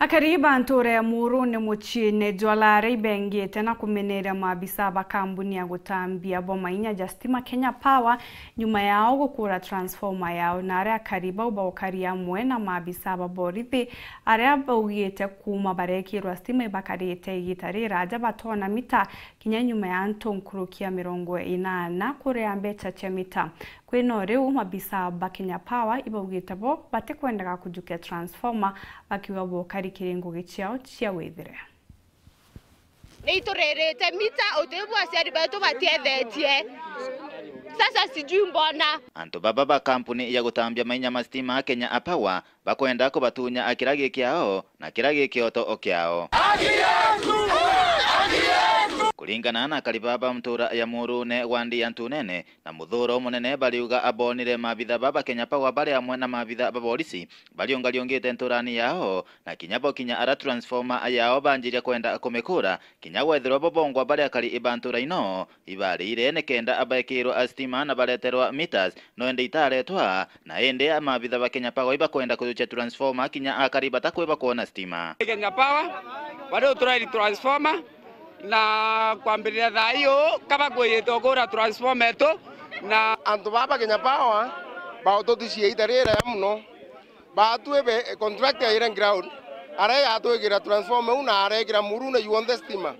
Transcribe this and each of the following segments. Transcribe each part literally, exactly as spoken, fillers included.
Akari ba ntuura ya Muurune muciine jwa Lare ibengite na kumeneria maabisa ba kambuni ya gutambia bwa mainya ja stima Kenya Power nyuma yao gukura transformer yao, na aria akari bau baukari amwe na maabisa ba borithi aria baugite kuuma barekirwa stima ibakarite igita riraja batona mita kinya nyuma ya antu nkuruki ya mirongo inana kuria mbecha cia mita. Kwina o riu, maabisa ba Kenya Power ibaugite bo batikwendaga kujukia transformer, bakiuga bo kari kiri ngugi ciao cia withire. Ni ituririte mita, uti bu aciari betu batiethetie. Sasa sijui mbona. Antu baba ba kampuni ya gutambia mainya ma stima Kenya Power bakwenda kubatunya kira gi kiao na kira gi kioto o kiao. Kuringana na akari baba ntuura ya Muurune, wandi ya Ntunene na Muthuuro Munene, bariuga abonire maabitha baba Kenya Power bari amwe na maabitha ba borisi bariungariungite ntuurani yao, na kinya bo kinya ara transformer yao banjiria kwenda kumikura, kinya gwethirwa bo bongwa bari akari ba ntuura ino ibarire nikenda abaikirwa a stima na bareterwa meters, no indi itaretwa, na indi maabitha ba Kenya Power ibakwenda kujukia transformer kinya akari batakwiba kwona stima. Kenya Power bari uturairi transformer, na kwambiriria thaa iu kaba kwiyite ukura transformer etu, na antu baba Kenya Power baututicirie ita riraya muno. Baatwi be contract yaire ground, aria yatwigira transformer iu na arekira Muurune yonthe stima.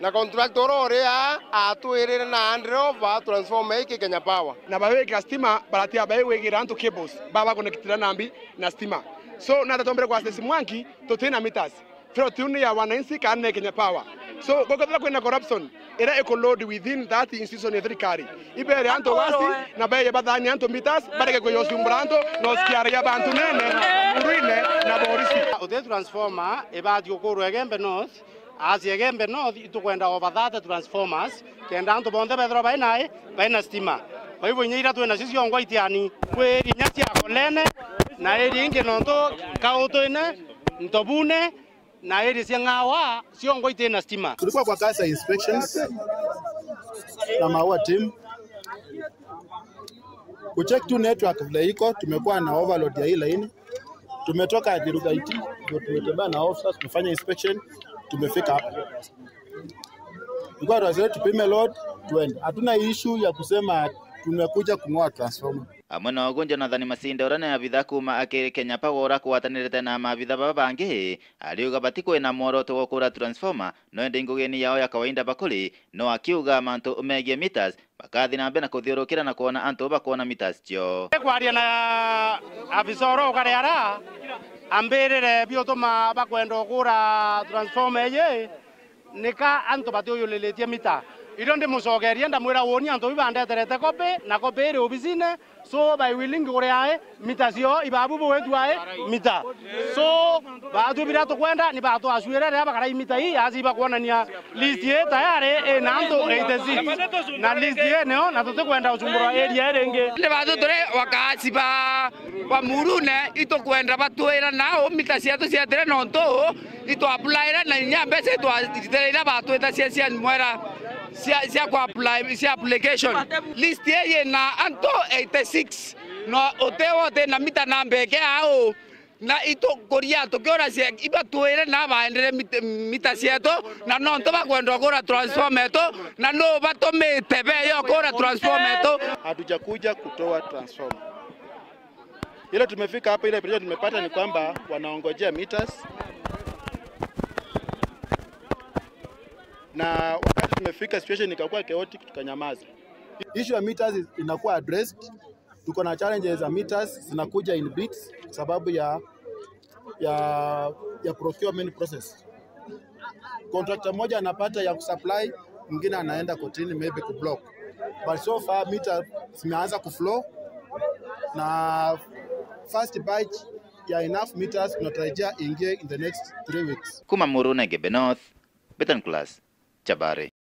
Na contractor uria uri aa atwirire na andire over transformer iki Kenya Power. Na bawikira stima baratia bawikira antu cables, baba connectira nambi na stima. So, na tatombere kwa Stacy Mwangi, tutina meters. Plot iu ni ya wananchi kana ni Kenya Power. So, gukethira kwina corruption, iria iku load within that institution ya thirikari. Ibere antu wasi, na beye bathani antu meters, bareke kuyocumbura antu, na usikiara ya bantu nene, Muurune na borisi. Uti transformer ibati gukurwa Igembe North, as Igembe North, itukwenda over thirty transformers, kenda antu bonthe bethirwa bai nai, bai na stima. Kwa hivyo, inya iria twina cio ciongwa itiani, kwi inya cia Kolene, na iri ingi nontu Kautwine, Ntobune, na area cia Ng'awa ciongwa itina stima. Tulikuwa kwa kazi ya inspections na Maua team. Kucheck tu network vile iko, tumekuwa na overload ya hii line. Tumetoka Athiru Gaiti, ndio tumetembea na officers, tumefanya inspection, tumefika hapa. Tulikuwa tunasema tupime load, tuende. Hatuna issue ya kusema tumekuja kung'oa transformer. Amwe nogu, Jonathan Masinde, uria ni abitha kuuma akiri Kenya Power uria akwatanirite na maabitha baba bangi, ariuga batikwina mworoto wa ukura transformer, no indi ngugini yao ya kawaida bakuri, no akiuga mantu megie meters, bakathi na mbere na kuthiurukira na kwona antu bakwona meters cio. Kwaria na afisa uria ukari ara, ambirire biutuma bakwenda ukura transformer iji, nika antu batiuyulilitie mita. Irio ndimucokerie, ndamwira, woni antu iu bandeterete kopi, na kopi iri obisine, so by willing uri ae, mita cio ibabu bugwitwa ae, mita. So, baatwi biria tukwenda, ni batwacwire riria bakarai mita ii, asi ibakwonania list ii tayari ina antu eighty-six. Na list ii nio, na tutikwenda ucumburwa area ii ringi. Ni batwi turi wakaasi ba, ba Muurune, itukwenda batwira nau mita cietu cietire nontu itwaplaire na inya mbeca itwacitire iria batwita cia, cia mwera cia, cia ku apply, cia application. List ii yina antu eighty-six. No uti wote na mita namba eke au. Na itukuria tukiura cia, ibatwire na baendere mit-, mita cietu, na nontu bakwenda kugura transformer yetu, na no batumite beyo kugura transformer yetu. Hatujakuja kutoa transformer. Ile tumefika hapa, ile picha tumepata ni kwamba wanaongojea meters. Na wakati tumefika, situation ikakuwa chaotic, tukanyamaza. Issue ya meters is, inakuwa addressed. Tuko na challenges za meters zinakuja in bits sababu ya, ya, ya procurement process. Contractor mmoja anapata ya kusupply, mwingine anaenda kotini maybe kublock. But so far meter zimeanza kuflow na first batch ya enough meters tunatarajia ingie in the next three weeks. Kuma Muurune, Igembe North, Betan Class, Chabari.